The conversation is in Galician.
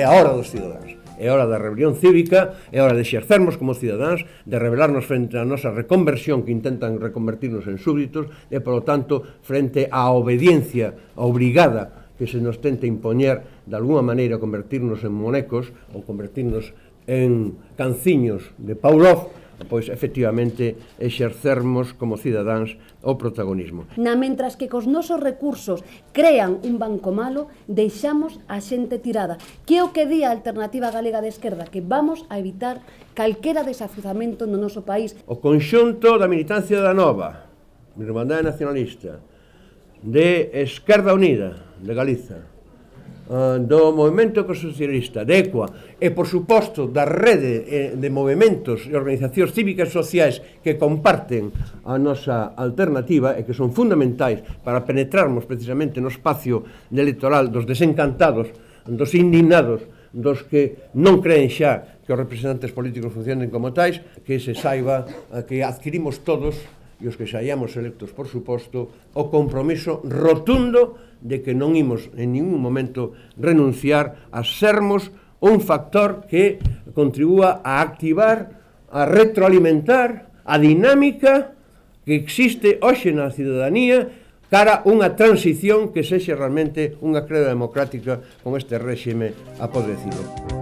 a hora dos cidadáns, é a hora da rebelión cívica, é a hora de exercermos como cidadáns, de rebelarnos frente á nosa reconversión que intentan reconvertirnos en súbditos e, polo tanto, frente á obediencia obrigada que se nos tenta impoñer de alguna maneira convertirnos en monecos ou convertirnos en canciños de Pavlov, pois efectivamente exercermos como cidadáns o protagonismo. Mentras que cos nosos recursos crean un banco malo, deixamos a xente tirada. Que é o que di a Alternativa Galega de Esquerda? Que vamos a evitar calquera desafuzamento no noso país. O conxunto da militancia da Nova, de Irmandade Nacionalista, de Esquerda Unida, de Galiza, do movimento ecosocialista, de ECUA, e, por suposto, da rede de movimentos e organizacións cívicas e sociais que comparten a nosa alternativa e que son fundamentais para penetrarmos precisamente no espacio electoral dos desencantados, dos indignados, dos que non creen xa que os representantes políticos funcionen como tais, que se saiba que adquirimos todos, e os que saíamos electos, por suposto, o compromiso rotundo de que non imos en ningún momento renunciar a sermos un factor que contribúa a activar, a retroalimentar a dinámica que existe hoxe na cidadanía cara unha transición que sexe realmente unha creda democrática con este réxime apodrecido.